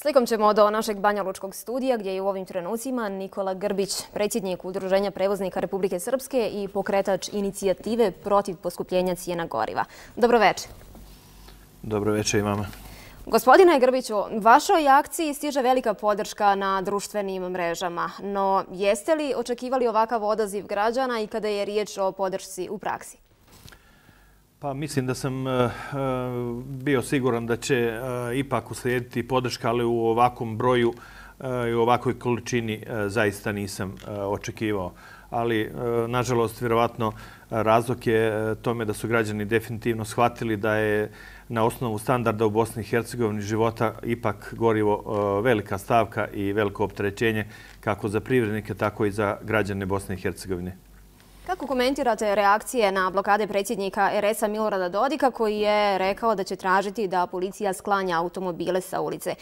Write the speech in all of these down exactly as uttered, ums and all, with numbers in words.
Slikom ćemo do našeg banjalučkog studija gdje je u ovim trenucima Nikola Grbić, predsjednik Udruženja prevoznika Republike Srpske i pokretač inicijative protiv poskupljenja cijena goriva. Dobro večer. Dobro večer i vama. Gospodine Grbiću, vašoj akciji stiže velika podrška na društvenim mrežama, no jeste li očekivali ovakav odaziv građana i kada je riječ o podršci u praksi? Pa mislim da sam uh, bio siguran da će uh, ipak uslijediti podrška, ali u ovakvom broju uh, i u ovakvoj količini uh, zaista nisam uh, očekivao. Ali, uh, nažalost, vjerovatno razlog je tome da su građani definitivno shvatili da je na osnovu standarda u Bosni i Hercegovini života ipak gorivo uh, velika stavka i veliko opterećenje kako za privrednike, tako i za građane Bosne i Hercegovine. Kako komentirate reakcije na blokade predsjednika er es a Milorada Dodika koji je rekao da će tražiti da policija sklanja automobile sa ulice?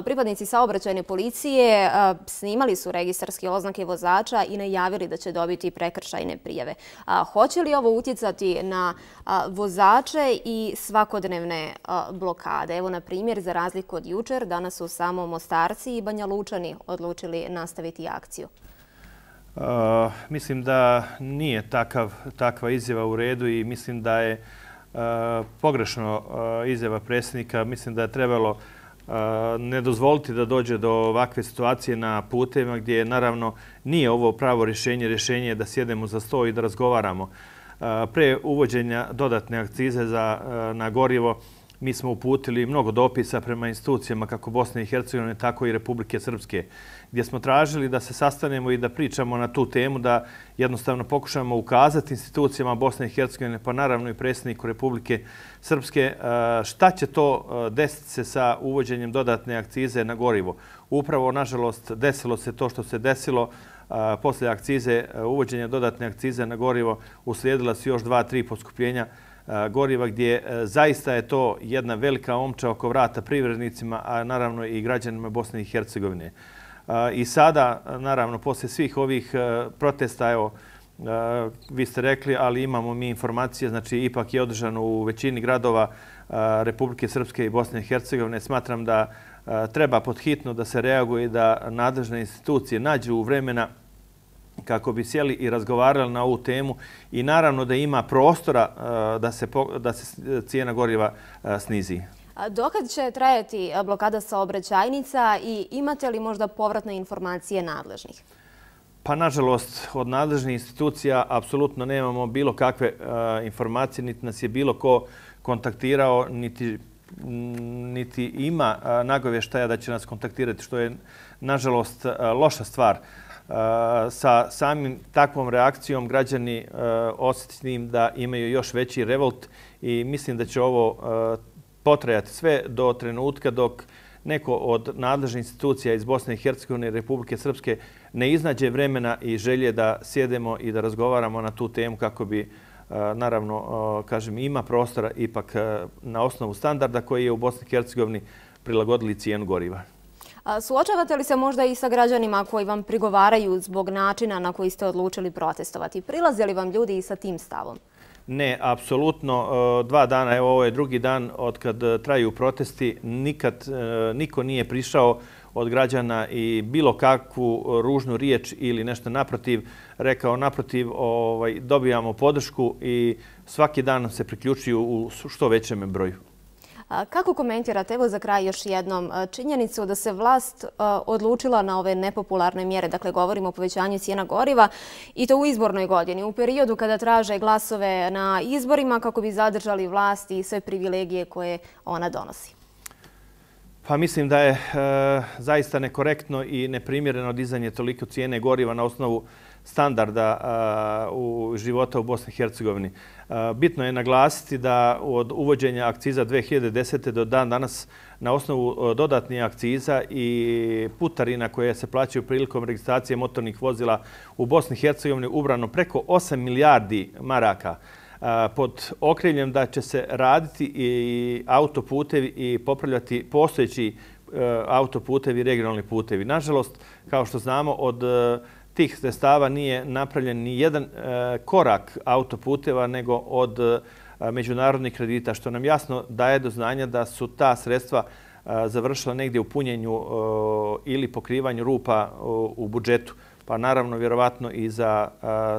Pripadnici saobraćajne policije snimali su registarske oznake vozača i najavili da će dobiti prekršajne prijave. Hoće li ovo utjecati na vozače i svakodnevne blokade? Evo, na primjer, za razliku od jučer, danas su samo Mostarci i Banjalučani odlučili nastaviti akciju. Uh, mislim da nije takav, takva izjava u redu i mislim da je uh, pogrešno uh, izjava predsjednika. Mislim da je trebalo uh, ne dozvoliti da dođe do ovakve situacije na putevima gdje naravno nije ovo pravo rješenje. Rješenje je da sjedemo za sto i da razgovaramo. Uh, pre uvođenja dodatne akcize za, uh, na gorivo mi smo uputili mnogo dopisa prema institucijama kako Bosne i Hercegovine, tako i Republike Srpske, gdje smo tražili da se sastanemo i da pričamo na tu temu, da jednostavno pokušamo ukazati institucijama Bosne i Hercegovine, pa naravno i predsjedniku Republike Srpske, šta će to desiti se sa uvođenjem dodatne akcize na gorivo. Upravo, nažalost, desilo se to što se desilo. Poslije akcize, uvođenja dodatne akcize na gorivo, uslijedila su još dva, tri poskupljenja goriva, gdje zaista je to jedna velika omča oko vrata privrednicima, a naravno i građanima Bosne i Hercegovine. I sada, naravno, poslije svih ovih protesta, evo, vi ste rekli, ali imamo mi informacije, znači ipak je održano u većini gradova Republike Srpske i Bosne i Hercegovine. Smatram da treba podhitno da se reaguje i da nadležne institucije nađu vremena kako bi sjeli i razgovarali na ovu temu i naravno da ima prostora da se, da se cijena goriva snizi. Dokad će trajati blokada saobraćajnica i imate li možda povratne informacije nadležnih? Pa, nažalost, od nadležnih institucija apsolutno nemamo bilo kakve informacije, niti nas je bilo ko kontaktirao, niti, niti ima nagovještaja da će nas kontaktirati, što je, nažalost, loša stvar. Sa samim takvom reakcijom građani osjetiti da imaju još veći revolt i mislim da će ovo potrajati sve do trenutka dok neko od nadležnih institucija iz Bosne i Hercegovine i Republike Srpske ne iznađe vremena i želje da sjedemo i da razgovaramo na tu temu kako bi, naravno, kažem, ima prostora ipak na osnovu standarda koji je u Bosni i Hercegovini prilagodili cijenu goriva. Suočavate li se možda i sa građanima koji vam prigovaraju zbog načina na koji ste odlučili protestovati? Prilaze li vam ljudi i sa tim stavom? Ne, apsolutno. Dva dana, evo ovo je drugi dan od kad traju protesti, nikad niko nije prišao od građana i bilo kakvu ružnu riječ ili nešto naprotiv rekao. Naprotiv, ovaj, dobijamo podršku i svaki dan nam se priključuju u što većem broju. Kako komentirate, evo za kraj još jednom, činjenicu da se vlast odlučila na ove nepopularne mjere, dakle govorimo o povećanju cijena goriva i to u izbornoj godini, u periodu kada traže glasove na izborima kako bi zadržali vlast i sve privilegije koje ona donosi? Pa mislim da je e, zaista nekorektno i neprimjereno dizanje toliko cijene goriva na osnovu standarda a, u života u Bosni i Hercegovini. A, bitno je naglasiti da od uvođenja akciza dve hiljade desete. do dan danas na osnovu dodatnih akciza i putarina koje se plaćaju prilikom registracije motornih vozila u Bosni i Hercegovini ubrano preko osam milijardi maraka. Pod okriljem da će se raditi i autoputevi i popravljati postojeći autoputevi i regionalni putevi. Nažalost, kao što znamo, od tih sredstava nije napravljen ni jedan korak autoputeva nego od međunarodnih kredita, što nam jasno daje do znanja da su ta sredstva završila negdje u punjenju ili pokrivanju rupa u budžetu, pa naravno vjerovatno i za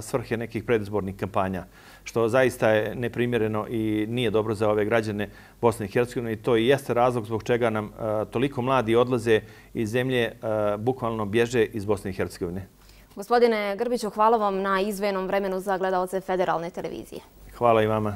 svrhe nekih predizbornih kampanja, što zaista je neprimjereno i nije dobro za ove građane Bosne i Hercegovine i to i jeste razlog zbog čega nam toliko mladi odlaze iz zemlje, bukvalno bježe iz Bosne i Hercegovine. Gospodine Grbiću, hvala vam na izdvojenom vremenu za gledaoce Federalne televizije. Hvala i vama.